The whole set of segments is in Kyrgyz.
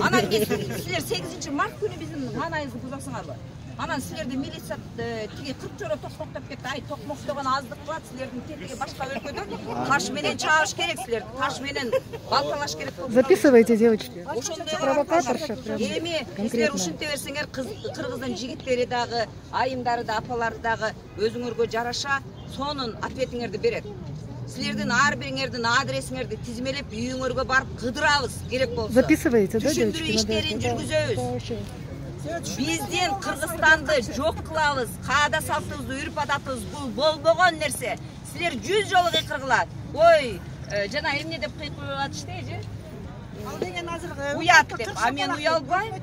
Анан силер 8 март күнү биздин маанайыбызды бузасыңарбы? Анан силерди милиция тиги 40 жора токтоп кетти. Ай, токмок деген аздык кылат, силердин тетиги башка өлкөдө таш менен чабыш керек, силерди таш менен балталаш керек. Записывайте, девочки. Провокаторша. Эми силер ушинте берсеңер, кыргыздын жигиттери дагы, айымдары да, апалары дагы өзүңөргө жараша сонун ответиңерди берет. Силердин ар бириңердин адресиңерди тизмелеп үйүңөргө барып кыдырабыз керек болсо. Записывайте, да, девочки? Түшүндүрүү иштерин жүргүзөбүз. Биздин Кыргызстанды жок кылабыз. Каада салтыбызды, үрп адатыбыз бул болбогон нерсе. Силер 100 жолу кыйкыргылат. Ой, жана эмне деп кыйкырып атыштайжы? Ал деген азыр уят деп. А мен уялбайм.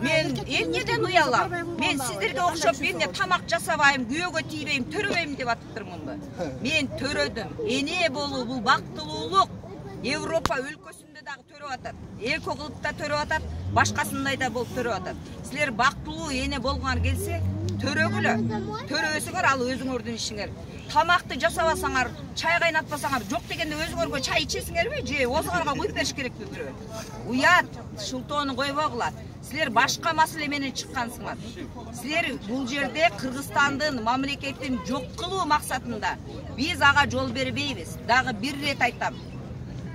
Мен эмнеден уялам? Мен сиздерге окшоп эмне тамак жасабайм, күйөөгө тийбейм, төрөбөйм деп атыптырмынбы? Мен төрөдүм. Эне болуу бул бактылуулук. Европа өлкөсүндө дагы төрөп атат. Эко кылып да төрөп атат, башкасындай да болуп төрөп атат. Силер бактылуу эне болгоңар келсе, төрөгүлө. Төрөбөсөңөр ал өзүңөрдүн ишиңер. Тамакты жасабасаңар, чай кайнатпасаңар, жок дегенде өзүңөргө чай ичесиңерби, же озуңарга куюп бериш керекпи бирөө? Уят, шултоону койбогула. Силер башка маселе менен чыккансыңар. Силер бул жерде Кыргызстандын мамлекетин жок кылуу максатында биз ага жол бербейбиз. Дагы бир рет айтам.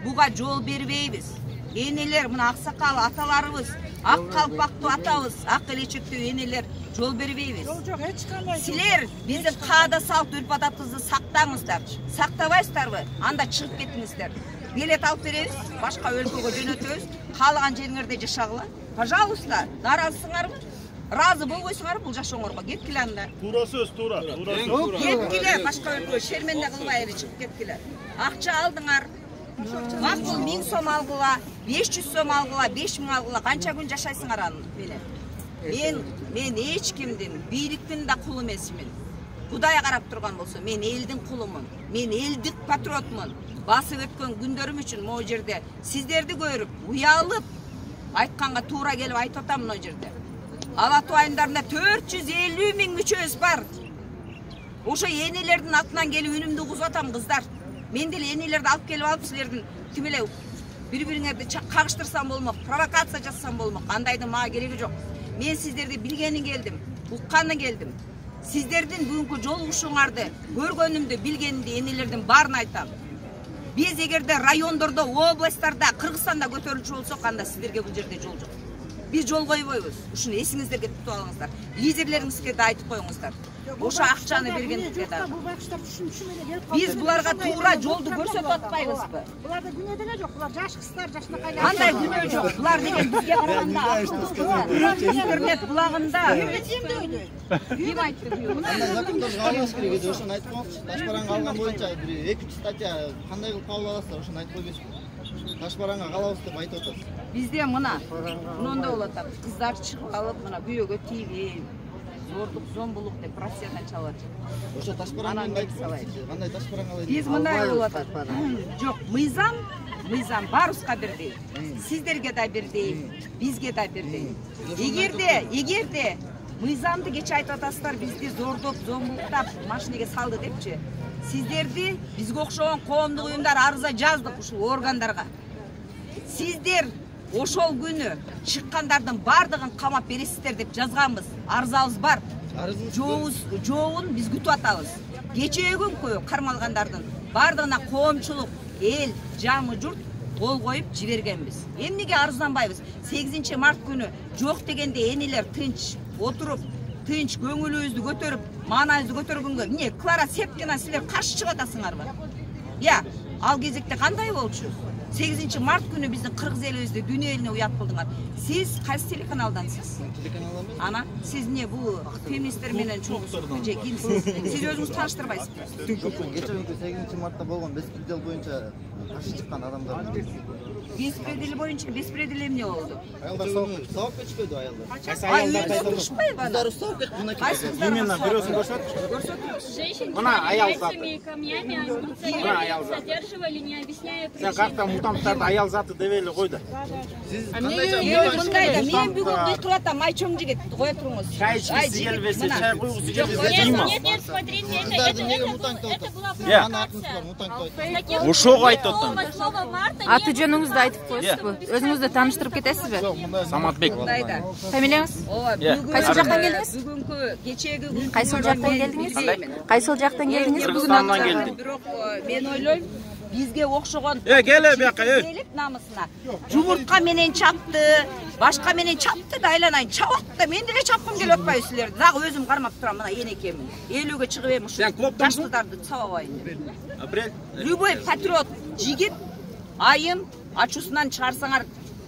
Буга жол бербейбиз. Энелер, мына аксакал аталарыбыз, ак калпактуу атабыз, ак элечектүү энелер жол бербейбиз. Жок, эч кандай. Силер биздин каада салт үрп адатыбызды сактаңыздар. Сактабайсыздарбы? Анда чыгып кетиңиздер. Билет алып беребиз, башка өлкөгө жөнөтөбүз, каалаган жериңерде жашагыла. Пожалуйста, наразысыңарбы? Разы болбойсуңарбы бул жашооңорго? Кеткиле анда. Туура сөз, туура. Кеткиле, башка өлкөгө шерменде кылбай эле чыгып кеткиле. Акча алдыңар. Макул 1000 сом алгыла, 500 сом алгыла, 5000 алгыла, канча күн жашайсыңар аны менен? Мен эч кимдин, бийликтин да кулу эмесмин. Кудай карап турган болсо, мен элдин кулумун. Мен элдик патриотмун. Басып өткөн күндөрүм үчүн могу жерде сиздерди көрүп, уялып, айтканга туура келип айтып атам мына жерде. Ала Тоо айымдарында 450 000 мүчөбүз бар. Ошо энелердин атынан келип үнүмдү угузуп атам, кыздар. Мен деле энелерди алып келип алып, силердин тимеле бири-бириңерди кагыштырсам болмок, провокация жасасам болмок. Андайдын мага кереги жок. Мен сиздерди билгени келдим, укканы келдим. Сиздердин бүгүнкү жолугушууңарды, көргөнүмдү, билгенимди энелердин баарын айтам. Биз эгерде райондордо, областтарда, Кыргызстанда көтөрүлчү болсок, анда сиздерге бул жерде жол жок. Биз жол койбойбуз. Ушуну эсиңиздерге тутуп алыңыздар. Лидерлериңизге да айтып коюңуздар. Ошо акчаны бергендикке да. Биз буларга туура жолду көрсөтүп атпайбызбы? Буларда күнөө деле жок. Булар жаш кыздар, жашынакай. Кандай күнөө жок? Булар деген бизге караганда интернет булагында. Ким айтты бул? Кандай закондорго албаш керек эди, ошону айтып коңузчу. Таш бараңга алган боюнча бир 2 статья кандай кылып кабыл аласыздар, ошону айтып койбойсузбу? Таш бараңга калабыз деп айтып атасыз. Бизде мына мындай болот. Кыздар чыгып алып, мына күйөөгө тийбейм. Зордук, зомбулук деп Россиядан чалып атат. Ошо таш бараңга айтып кандай таш бараңга алат? Биз мындай болуп атат. Жок, мыйзам баарыбызга бирдей. Сиздерге да бирдей, бизге да бирдей. Эгерде мыйзамды кече айтып атасыздар, бизди зордоп, зомбулуктап машинеге салды депчи. Сиздерди бизге окшогон коомдук уюмдар арыза жаздык ушул органдарга. Сиздер ошол күнү чыккандардын бардыгын камап бересиздер деп жазганбыз. Арызабыз бар. Жообун биз күтүп атабыз. Кечээкүнкү кармалгандардын бардыгына коомчулук, эл, жамы журт кол коюп жибергенбиз. Эмнеге арызданбайбыз? 8 март күнү жок дегенде энелер тынч отуруп, тынч көңүлүбүздү көтөрүп, маанайыбызды көтөргөнгө эмне Клара Сепкина силер каршы чыгып атасыңарбы? Я, ал кезекте кандай болчу? 8 март күнү биздин кыргыз элибизди дүйнө элине уят кылдыңар. Сиз кайсы телеканалдансыз? Телеканалдан эмес. Ана, сиз эмне бул феминисттер менен чогулуп же кимсиз? Сиз өзүңүз тааныштырбайсызбы? Кечээ 8 мартта болгон беспредел боюнча каршы чыккан адамдар. Беспредел боюнча беспредел эмне болду? Аялдар сабап кетишпейди аялдар. Кайсы аялдар турушпайбы ана? Кыздар сабап кетти мына. Именно бирөөсүн көрсөтчү. Женщин аял заты. камнями, они задерживали, не объясняя причин. Сен картта мутанттарды аял заты деп эле кой да. Сиз мындайда мен бүгүн кыйкырып атам, айчоң жигит, кое туруңуз. Чай ичкиси келбесе, чай куйгусу келбесе, Нет, смотрите, это была провокация. Ошого айтып атам. Аты Аты жөнүңүздү айтып коесузбу? Өзүңүздү тааныштырып кетесизби? Саматбек. Мындайда. Фамилияңыз? Кайсыл жактан келдиңиз? Бүгүнкү кечээги күн Кайсыл жактан келдиңиз? Кайсыл жактан келдиңиз? Кыргызстандан келдим. Бирок мен ойлойм, бизге окшогон келе бияка, элек намысына. Жумуртка менен чапты, башка менен чапты да айланайын чабат да мен деле чапкым келип атпайбы силерди. Дагы өзүм кармап турам, мына энекемин. 50ге чыгып эми ушу жаштардарды чабабайын деп. Апрель. Любой патриот жигит айым ачуусунан чыгарсаңар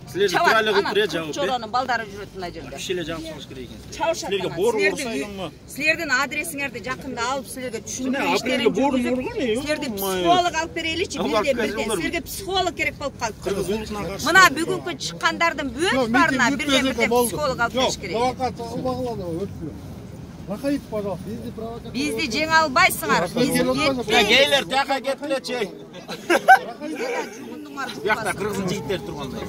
Силерди туралы кылып жабып. Чоронун балдары жүрөт мына жерде. Кишилер жабышыңыз керек экен. Чабышат. Силерге борун урсайдыңбы? Силердин адресиңерди жакында алып силерге түшүндүрүү апрелге борун жүргүзүп, урган, силерди психолог алып береличи, бирден силерге психолог керек болуп калды. Мына бүгүнкү чыккандардын бүт баарына бирден психолог алып бериш керек. Проходите, пожалуйста. Бизди жеңе албайсыңар. Гейлер тияка кеткилечи. Бияқта кыргыздын жигиттери тургандай.